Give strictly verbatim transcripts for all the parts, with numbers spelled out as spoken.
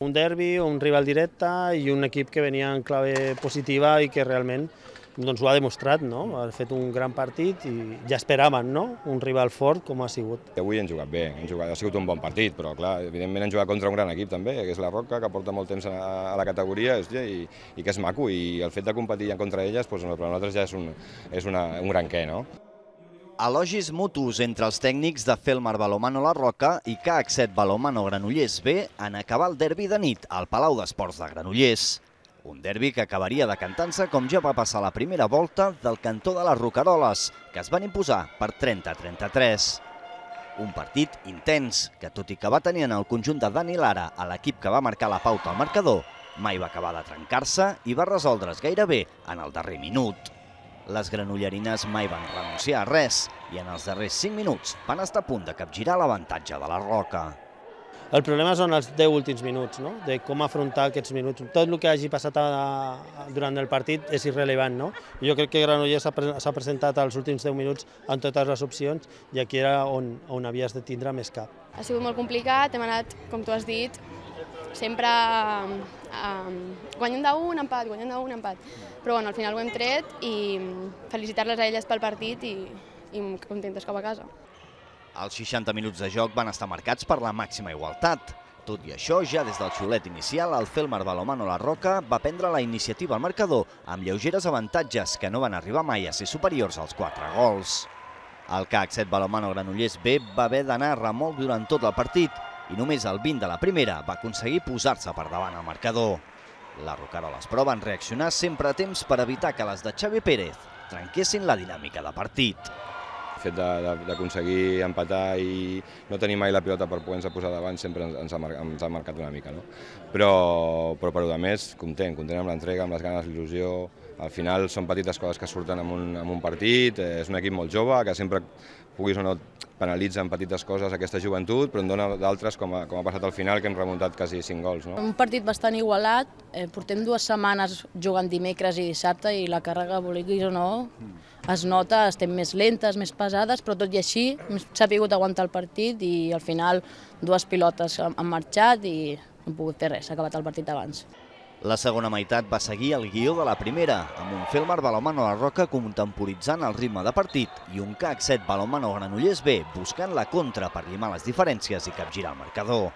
Un derbi, un rival directe i un equip que venia en clave positiva i que realment doncs, ho ha demostrat, no? Ha fet un gran partit i ja esperaven, no? Un rival fort com ha sigut. Avui hem jugat bé, hem jugat, ha sigut un bon partit, però clar, evidentment hem jugat contra un gran equip també, que és la Roca, que porta molt temps a, a la categoria hòstia, i, i que és maco, i el fet de competir contra elles doncs, per nosaltres ja és un, és una, un gran què, no? Elogis mutus entre els tècnics de Felmar Balonmano La Roca i C A C set Balonmano Granollers B en acabar el derbi de nit al Palau d'Esports de Granollers. Un derbi que acabaria decantant-se com ja va passar la primera volta del cantó de les Roqueroles, que es van imposar per trenta a trenta-tres. Un partit intens, que tot i que va tenir en el conjunt de Dani Lara a l'equip que va marcar la pauta al marcador, mai va acabar de trencar-se i va resoldre's gairebé en el darrer minut. Les granollerines mai van renunciar a res i en els darrers cinc minuts van estar a punt de capgirar l'avantatge de la Roca. El problema són els deu últims minuts, no? De com afrontar aquests minuts. Tot el que hagi passat a, a, durant el partit és irrellevant, no? Jo crec que Granollers s'ha pre presentat als últims deu minuts amb totes les opcions i aquí era on, on havies de tindre més cap. Ha sigut molt complicat, hem anat, com tu has dit, sempre um, guanyant d'un, empat, guanyant d'un, empat. Però bueno, al final ho hem tret i felicitar-les a elles pel partit i, i contentes cap a casa. Els seixanta minuts de joc van estar marcats per la màxima igualtat. Tot i això, ja des del xiulet inicial, el Felmar Balonmano La Roca va prendre la iniciativa al marcador amb lleugeres avantatges que no van arribar mai a ser superiors als quatre gols. El C A C set Balonmano Granollers B va haver d'anar a remolc durant tot el partit i només al vint de la primera va aconseguir posar-se per davant al marcador. Les Roqueroles, però, van reaccionar sempre a temps per evitar que les de Xavi Pérez trenquessin la dinàmica de partit. El fet d'aconseguir empatar i no tenir mai la pilota per poder-nos posar davant sempre ens ha, ens ha marcat una mica, no? Però, però per a més, content, content amb l'entrega, amb les ganes, l'il·lusió. Al final són petites coses que surten en un, en un partit, és un equip molt jove que sempre puguis o no penalitza en petites coses aquesta joventut, però en dona d'altres, com, com ha passat al final, que hem remuntat quasi cinc gols. No? Un partit bastant igualat, eh, portem dues setmanes jugant dimecres i dissabte i la càrrega, vulguis o no, es nota, estem més lentes, més pesades, però tot i així hem sabut aguantar el partit i al final dues pilotes han marxat i no hem pogut fer res, s'ha acabat el partit abans. La segona meitat va seguir el guió de la primera, amb un Felmar Balonmano La Roca contemporitzant el ritme de partit i un C A C set Balonmano Granollers B buscant la contra per llimar les diferències i capgirar el marcador.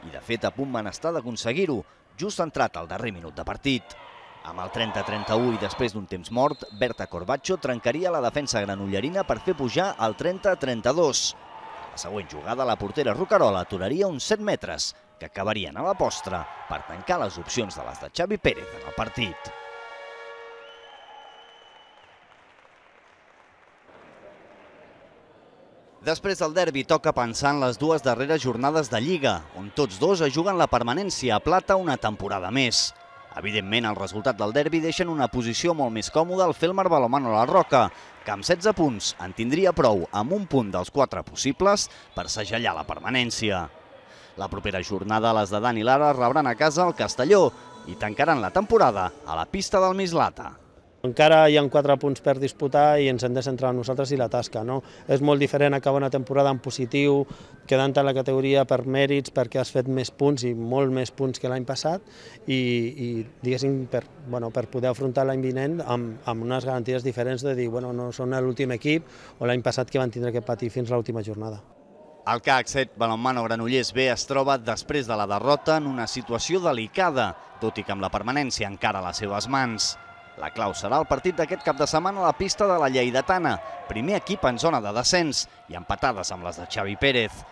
I de fet a punt van estar d'aconseguir-ho, just entrat al darrer minut de partit. Amb el trenta a trenta-u i després d'un temps mort, Berta Corbacho trencaria la defensa granollerina per fer pujar al trenta a trenta-dos. La següent jugada, la portera Roquerola aturaria uns set metres, que acabarien a la postre per tancar les opcions de les de Xavi Pérez en el partit. Després del derbi toca pensar en les dues darreres jornades de Lliga, on tots dos es juguen la permanència a plata una temporada més. Evidentment, el resultat del derbi deixa en una posició molt més còmoda el Felmar Balonmano La Roca, que amb setze punts en tindria prou amb un punt dels quatre possibles per segellar la permanència. La propera jornada, les de Dani Lara rebran a casa el Castelló i tancaran la temporada a la pista del Mislata. Encara hi ha quatre punts per disputar i ens hem de centrar en nosaltres i la tasca. No? És molt diferent acabar una temporada en positiu, quedant en la categoria per mèrits, perquè has fet més punts i molt més punts que l'any passat i, i diguéssim, per, bueno, per poder afrontar l'any vinent amb, amb unes garanties diferents de dir, bueno, no són l'últim equip o l'any passat que van tindre que patir fins a l'última jornada. El C A C set Balonmano Granollers B es troba després de la derrota en una situació delicada, tot i que amb la permanència encara a les seves mans. La clau serà el partit d'aquest cap de setmana a la pista de la Lleidatana, primer equip en zona de descens i empatades amb les de Xavi Pérez.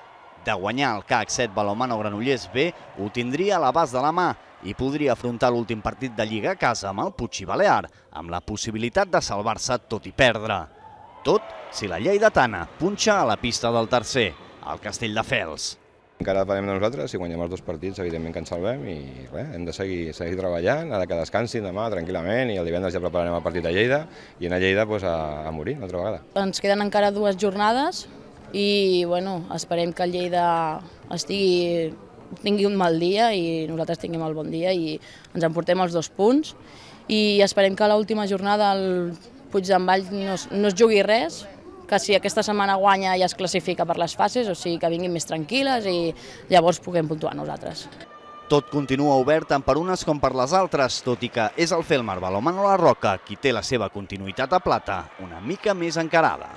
De guanyar el C A C set Balonmano Granollers B ho tindria a l'abast de la mà i podria afrontar l'últim partit de Lliga a casa amb el Puig i Balear, amb la possibilitat de salvar-se tot i perdre. Tot si la Lleidatana punxa a la pista del tercer, al Castelldefels. Encara depenem de nosaltres, si guanyem els dos partits, evidentment que ens salvem i res, hem de seguir, seguir treballant, ara que descansin demà tranquil·lament i el divendres ja prepararem el partit a Lleida i anar a Lleida pues, a, a morir una altra vegada. Ens queden encara dues jornades i bueno, esperem que el Lleida estigui, tingui un mal dia i nosaltres tinguem el bon dia i ens emportem els dos punts i esperem que a l'última jornada el Puig d'en Vall no, no es jugui res, que si aquesta setmana guanya ja es classifica per les fases, o sigui que vinguin més tranquil·les i llavors puguem puntuar nosaltres. Tot continua obert tant per unes com per les altres, tot i que és el Felmar Balonmano La Roca qui té la seva continuïtat a plata una mica més encarada.